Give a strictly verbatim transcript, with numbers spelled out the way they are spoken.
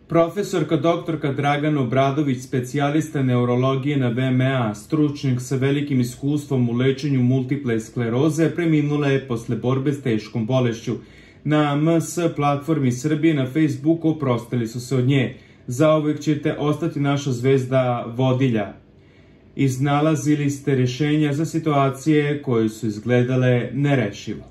Profesorka doktorka Dragana Obradović, specijalista neurologije na V M A, stručnjak sa velikim iskustvom u lečenju multiple skleroze, preminula je posle borbe s teškom bolešću. Na M S platformi Srbije na Facebooku oprostili su se od nje. Zauvek ćete ostati naša zvezda vodilja. Iznalazili ste rješenja za situacije koje su izgledale nerešivo.